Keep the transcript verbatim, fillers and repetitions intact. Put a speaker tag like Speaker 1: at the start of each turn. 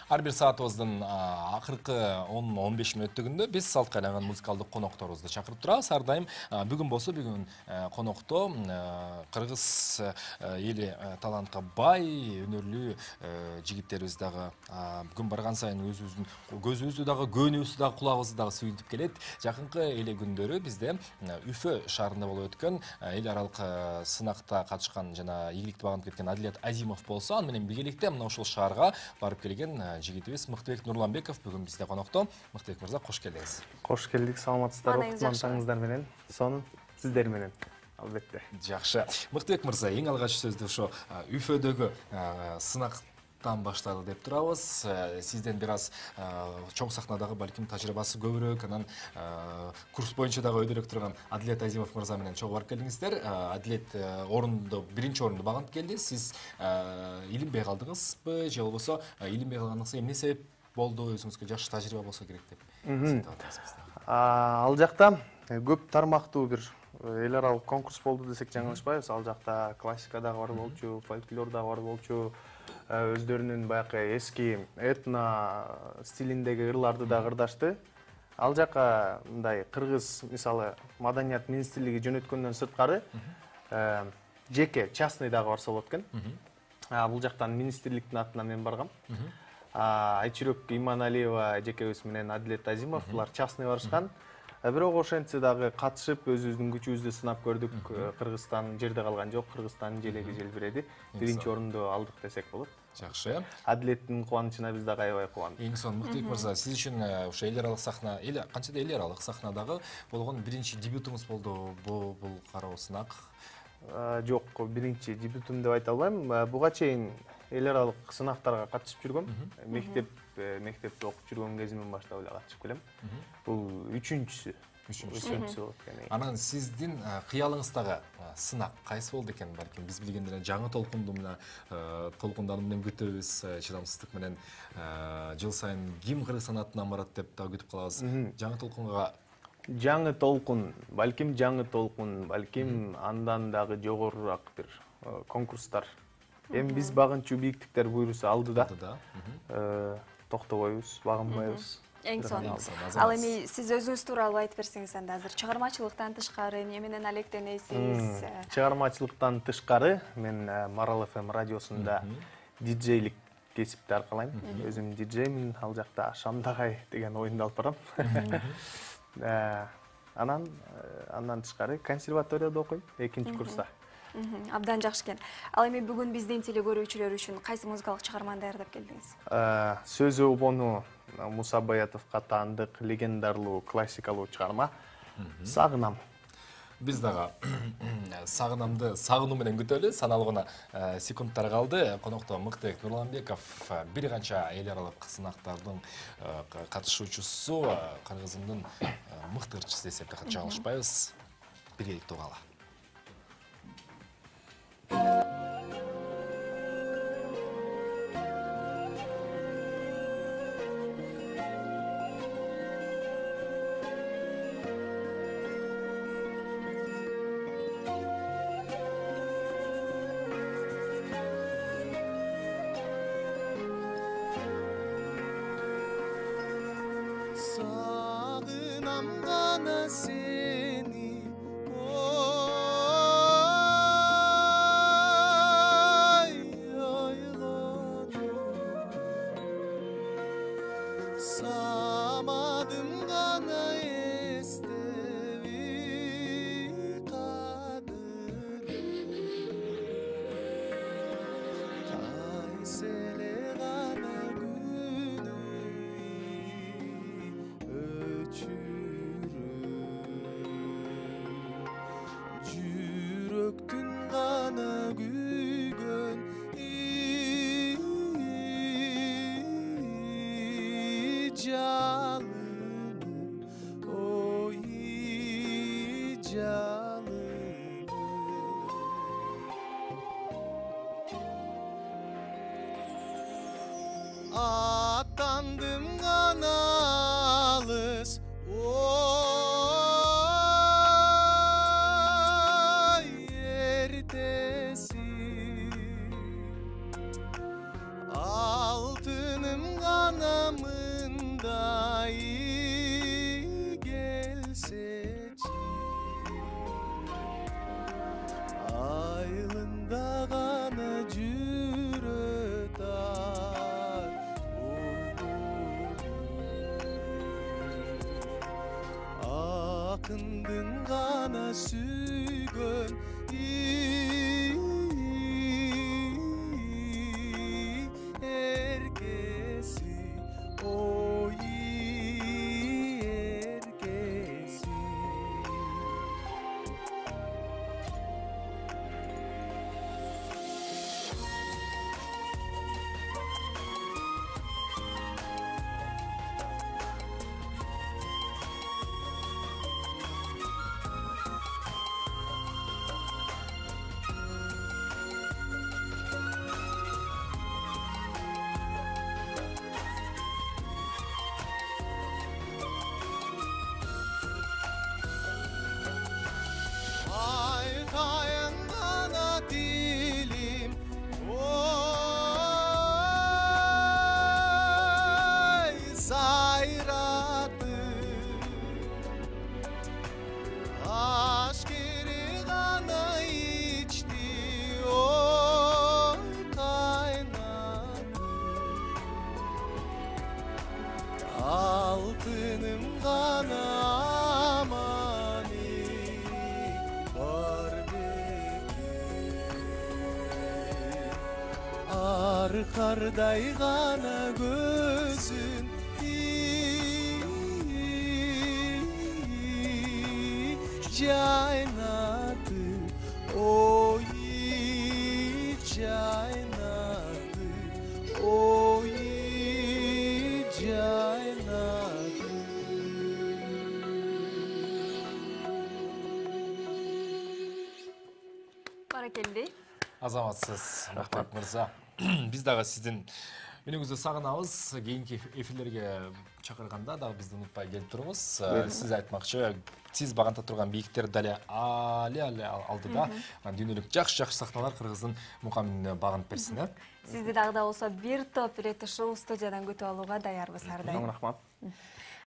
Speaker 1: Ар бир саатыбыздын акыркы он он беш мүнөттүгүндө биз салтка айланган музыкалдык конокторубузду чакырып турабыз. Ар дайым бүгүн болсо бүгүн конокто кыргыз эли талантка бай, өнөрлүү жигиттерибиз дагы бүгүн барган сайын өзүбүздүн көзүбүздү дагы, көөнүбүздү дагы, кулагыбызды дагы сүйүнтүп келет. Жакынкы эле күндөрү бизде Үфө шаарында болуп өткөн эл аралык сынакта катышкан жана ийгиликти багынтып кеткен Адилет Азимов болсо, аны менен биргеликте мына ушул шаарга барып келген жигитибиз Мыктыбек Нурланбеков бүгүн бизде конокто. Мыктыбек мырза, кош келдиңиз.
Speaker 2: Кош келдик, саламатсыздарбы кутмандыгыңыздар менен. Сонун сиздер менен албетте.
Speaker 1: Жакшы. Мыктыбек мырза, эң алгач сөздү ошо Үфөдөгү сынак баштады деп турабыз. Сизден бир аз чоң сахнадагы балким тажрыйбасы көбүрөөк, анан курс боюнча дагы өйдөрөөк турган Адилет Азимов мырза менен чогуу барып келдиңиздер. Адилет орунду, биринчи орунду багынтып келди. Сиз илинбей калдыңызбы, же болбосо илинбей калганыңызга эмне себеп болду, өзүңүзгө жакшы тажрыйба болсо керек деп эсептеп атасыз?
Speaker 2: Ал жакта көп тармактуу бир эл аралык конкурс болду десек жаңылышпайбыз. Ал жакта классика дагы бар болчу, фольклор дагы бар болчу. Өздөрүнүн баягы эски этно стилиндеги ырларды да ырдашты. Ал жака мындай кыргыз, мисалы, маданият министрлиги жөнөткөндөн сырткары жеке частный дагы барса болот экен. Бул жактан министрликтин атынан мен баргам. Айчүрөк Иманалиева жекебиз менен Адилет Азимов булар частный барышкан. Бирок ошентсе дагы катышып өзүбүздүн күчүбүздү сынап көрдүк. Кыргызстан жерде калган жок, Кыргызстандын желеги желбиреди. Биринчи орунду алдык десек болот.
Speaker 1: Жакшы.
Speaker 2: Адилеттин кубанычына биз дагы аябай кубандык.
Speaker 1: Эң сонун Мыктыбек мырза, сиз үчүн ошо эл аралык сахна, эл канчада эл аралык сахнадагы болгон биринчи дебютуңуз болду бул бул кароо сынак?
Speaker 2: Жок, биринчи дебютум деп айта албайм. Буга чейин эл аралык сынактарга катышып жүргөм. Мектеп мектепте окуп жүргөн кезимден баштап эле катышып келем. Бул үчүнчүсү. Үчүнчүсү болот экен.
Speaker 1: Анан сиздин кыялыңыздагы сынак кайсы болду экен? Балким биз билгендей жаңы толкунду мына толкундану менен күтөбүз, чыдамсыздык менен жыл сайын ким Кыргызстан атынан барат деп да күтүп калабыз. Жаңы толкунга
Speaker 2: жаңы толкун, балким жаңы толкун, балким андан дагы жогорураак бир конкурстар. Эми биз багынчу бийиктиктер буйруса алдыда. Токтобойбуз, багынбайбыз.
Speaker 3: Эң сонун. Ал эми сиз өзүңүз тууралуу айтып берсеңиз анда азыр чыгармачылыктан тышкары эмне менен алектенесиз?
Speaker 2: Чыгармачылыктан тышкары мен Марал эф эм радиосунда диджейлик кесипти аркалайм. Өзүм диджеймин, ал жакта Шамдагай деген оюнду алып барам. Анан андан тышкары консерваторияда окуйм, экинчи курста.
Speaker 3: Абдан жакшы экен. Ал эми бүгүн биздин телекөрүүчүлөр үчүн кайсы музыкалык чыгарманы даярдап келдиңиз?
Speaker 2: Сөзү Обону Муса Баятовго таандык легендарлуу классикалуу чыгарма Сагынам.
Speaker 1: Биз дагы Сагынамды сагынуу менен күтөлү. Саналуу гана секундтар калды. Конокто Мыктыбек Нурланбеков, бир канча эл аралык сынактардын катышуучусу, Кыргызымдын мыкты ырчысы десек да жаңылышпайбыз. Биргеликте угалы.
Speaker 4: Сагынам гана сени, самадым гана эстеби кадыр, кайселе гана күнөй өчүрүп, жүрөктүн гана күйгөн жалыны, ой жалыны. Аттандым гана алыс, ой эртеси, алтыным гана мындай келсечи айылында гана жүрөт акындын гана сүйгөн эркеси ой эркеси айтайын гана тилим ой сайратып ашкери гана ичти ой кайнатып алтыным гана кардай гана көзүн жайнатып ой жайнатып ой жайнатып
Speaker 3: баракелди
Speaker 1: азаматсыз Мактап мырза. Биз дагы сиздин үнүңүздү сагынабыз. Кийинки эфирлерге чакырганда дагы бизди унутпай келип туруңуз. Сиз айтмакчы, сиз баганта турган бийиктер дале али али алдыда дүйнөлүк жакшы-жакшы сахналар кыргыздын мукаминине багынып берсин, э?
Speaker 3: Сизди дагы да болсо бир топ ирет ушул студиядан күтүп алууга даярбыз ар дайым.
Speaker 2: Рахмат.